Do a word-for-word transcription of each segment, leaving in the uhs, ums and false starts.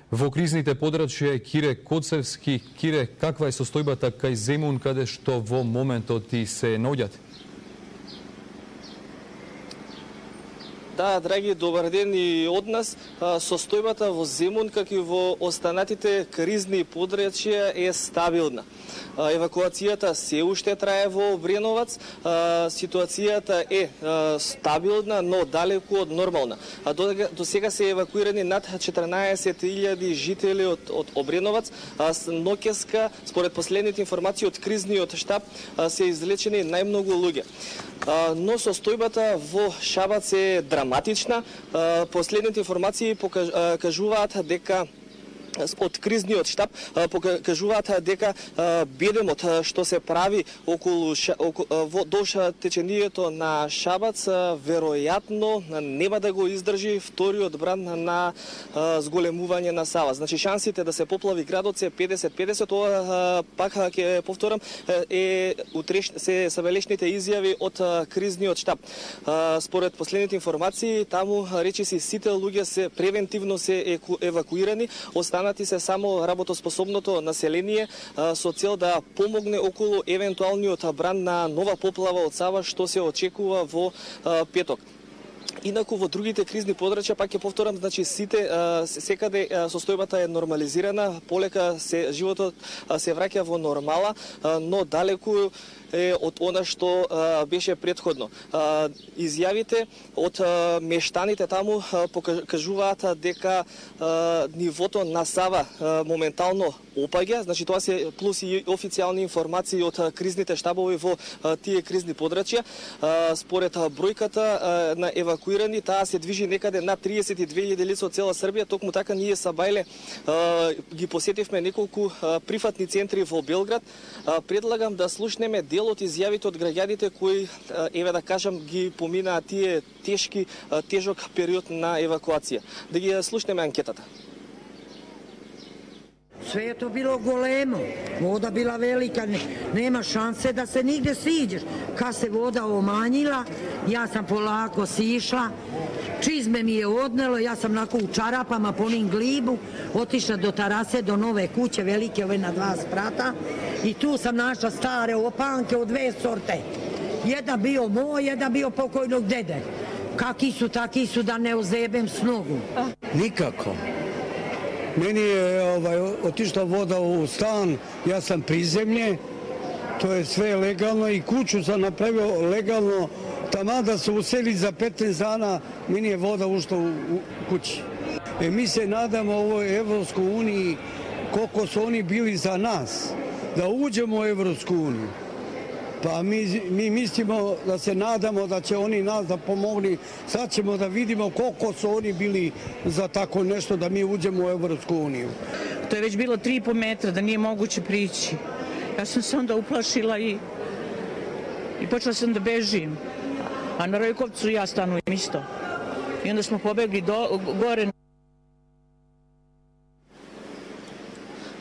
Во кризните подрачја Кире Коцевски. Кире, каква е состојбата кај Земун, каде што во моментот и се наоѓате? Да, драги, добар ден и од нас. Состојбата во Земун, како и во останатите кризни подрачја, е стабилна. Евакуацијата се уште трае во Обреновац. Ситуацијата е стабилна, но далеку од нормална. До сега се евакуирани над четрнаесет илјади жители од, од Обреновац. Ноќеска, според последните информации од кризниот штаб, се излечени најмногу луѓе. Но состојбата во Шабац е драматична. Последните информации покажуваат дека од кризниот штаб покажуваат дека бедемот што се прави околу во долж течението на Шабац веројатно нема да го издржи вториот бран на зголемување на Сава. Значи шансите да се поплави градот се педесет педесет. Ова пак ќе повторам е утреш се сабелешните изјави од кризниот штаб. Според последните информации таму речиси сите луѓе се превентивно се евакуирани, останати се само работоспособното население со цел да помогне околу евентуалниот бран на нова поплава од Сава што се очекува во петок. Инаку во другите кризни подрачја, пак ќе повторам, значи сите секаде состојбата е нормализирана, полека се животот се враќа во нормала, но далеку е од она што а, беше претходно. А, изјавите од а, мештаните таму а, покажуваат дека а, нивото на Сава а, моментално опаѓа, значи тоа се плюс и официјални информации од а, кризните штабови во а, тие кризни подрачја. А, според а, бројката а, на евакуирани, таа се движи некаде на триесет и две илјади лица од цела Србија. Токму така ние са Бајле а, ги посетивме неколку а, прифатни центри во Белград. А, предлагам да слушнеме дел од изјавите од граѓаните кои, еве да кажам, ги поминаа тие тешки, тежок период на евакуација. Да ги слушнеме анкетата. Sve je to bilo golemo, voda bila velika, nema šanse da se nigde siđeš. Kad se voda omanjila, ja sam polako sišla, čizme mi je odnelo, ja sam onako u čarapama po onim glibu, otišla do terase, do nove kuće, velike ove na dva sprata, i tu sam našla stare opanke od dve sorte. Jedan bio moj, jedan bio pokojnog dede. Kaki su, taki su, da ne ozebem s nogu. Nikako. Meni je ovaj, otišla voda u stan, ja sam prizemlje, to je sve legalno i kuću sam napravio legalno, tamo da se useli za petnaest dana, meni je voda ušla u, u kući. E, mi se nadamo ovoj Evropskoj uniji koliko su oni bili za nas, da uđemo u Evropsku uniju. Pa mi, mi mislimo da se nadamo da će oni nas da pomogni. Sad ćemo da vidimo koliko su oni bili za tako nešto da mi uđemo u Evropsku uniju. To je već bilo tri i po metra, da nije moguće prići. Ja sam se onda uplašila i, i počela sam da bežim. A na Rojkovcu ja stanujem isto. I onda smo pobegli do, gore.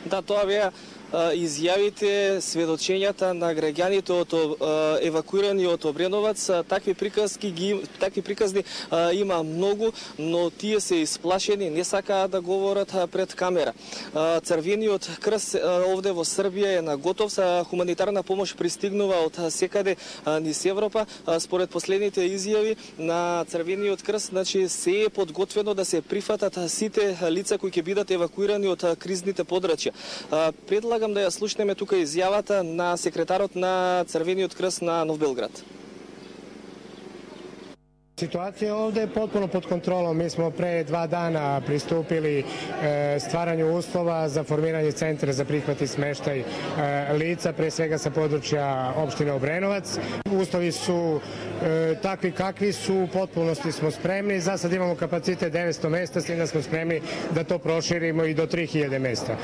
Da, тоа беа изјавите, сведочењата на граѓаните од евакуирани од Обреновац. Такви приказки ги такви приказни има многу, но тие се исплашени, не сакаат да говорат пред камера. Црвениот крст овде во Србија е на готов, хуманитарна помош пристигнува од секаде низ Европа. Според последните изјави на Црвениот крст, значи се е подготвено да се прифатат сите лица кои ќе бидат евакуирани од кризните подрачја. Предлагам да ја слушнеме тука изјавата на секретарот на Црвениот крст на Нов Белград. Situacija ovde je potpuno pod kontrolom. Mi smo pre dva dana pristupili e, stvaranju uslova za formiranje centra za prihvat i smeštaj e, lica, pre svega sa područja opštine Obrenovac. Uslovi su e, takvi kakvi su, u potpunosti smo spremni. Za sad imamo kapacitet devetsto mesta, s tim da smo spremni da to proširimo i do tri hiljade mesta.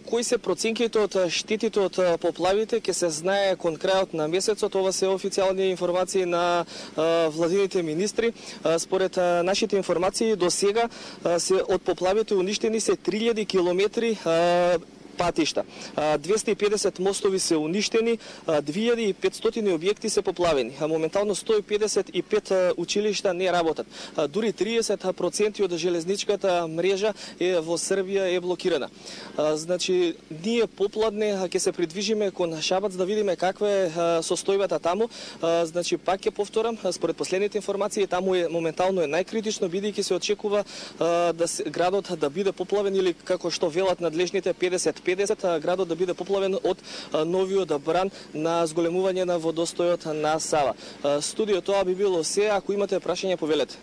Кои се проценките од штетите од поплавите ќе се знае кон крајот на месецот. Ова се официјални информации на владините министри. Според нашите информации до сега се од поплавите уништени се три илјади километри патишта. двесте и педесет мостови се уништени, две илјади и петстотини објекти се поплавени. Моментално сто и педесет и пет училишта не работат. Дури триесет проценти од железничката мрежа е во Србија е блокирана. Значи, ние попладне ќе се придвижиме кон Шабац да видиме каква е состојбата таму. Значи, пак ќе повторам, според последните информации, таму е моментално е најкритично, бидејќи се очекува да се, градот да биде поплавен или како што велат надлежните педесет педесет, градот да биде поплавен од новиот бран на зголемување на водостојот на Сава. Студио, тоа би било се. Ако имате прашање, повелете.